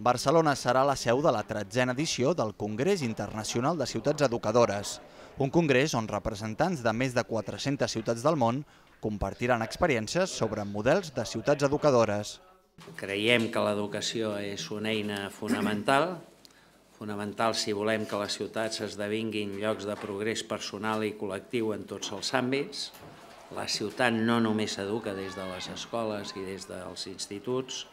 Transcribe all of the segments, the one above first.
Barcelona serà la seu de la 13a edició del Congrés Internacional de Ciutats Educadores, un congrés on representants de més de 400 ciutats del món compartiran experiències sobre models de ciutats educadores. Creiem que l'educació és una eina fonamental si volem que les ciutats esdevinguin llocs de progrés personal i col·lectiu en tots els àmbits. La ciutat no només s'educa des de les escoles i des dels instituts,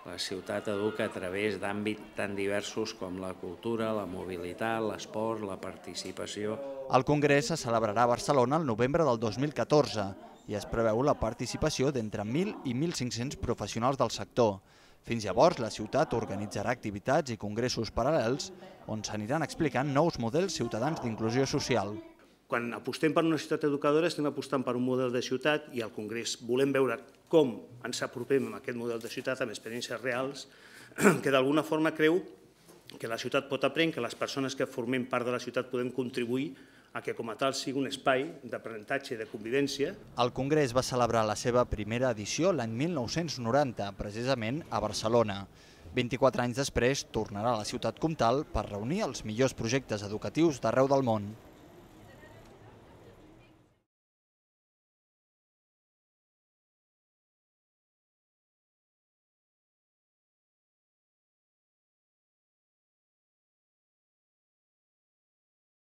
la ciutat educa a través d'àmbits tan diversos com la cultura, la mobilitat, l'esport, la participació. El congrés se celebrarà a Barcelona el novembre del 2014 i es preveu la participació d'entre 1.000 i 1.500 professionals del sector. Fins llavors, la ciutat organitzarà activitats i congressos paral·lels on s'aniran explicant nous models ciutadans d'inclusió social. Quan apostem per una ciutat educadora estem apostant per un model de ciutat i al Congrés volem veure com ens apropem a aquest model de ciutat amb experiències reals que d'alguna forma creu que la ciutat pot aprendre, que les persones que formem part de la ciutat podem contribuir a que com a tal sigui un espai d'aprenentatge i de convivència. El Congrés va celebrar la seva primera edició l'any 1990, precisament a Barcelona. 24 anys després tornarà a la ciutat comtal per reunir els millors projectes educatius d'arreu del món.